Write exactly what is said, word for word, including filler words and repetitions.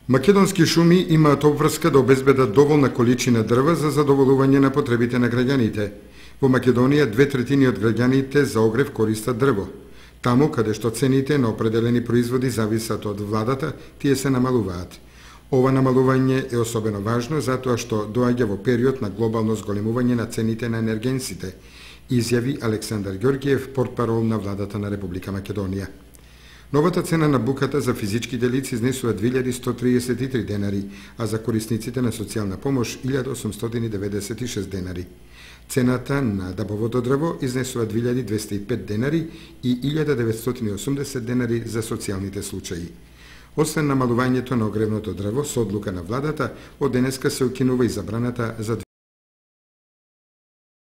Македонски шуми имаат обврска да обезбедат доволна количина дрва за задоволување на потребите на граѓаните. Во Македонија две третини од граѓаните за огрев користат дрво. Таму каде што цените на определени производи зависат од владата, тие се намалуваат. Ова намалување е особено важно затоа што доаѓа во период на глобално зголемување на цените на енергенсите, изјави Александар Ѓорѓиев, портпарол на владата на Република Македонија. Новата цена на буката за физичките лица изнесува две илјади сто триесет и три денари, а за корисниците на социјална помош илјада осумстотини деведесет и шест денари. Цената на дабовото дрво изнесува две илјади двесте и пет денари и илјада деветстотини и осумдесет денари за социјалните случаи. Освен намалувањето на огревното дрво, со одлука на владата, од денеска се укинува и забраната за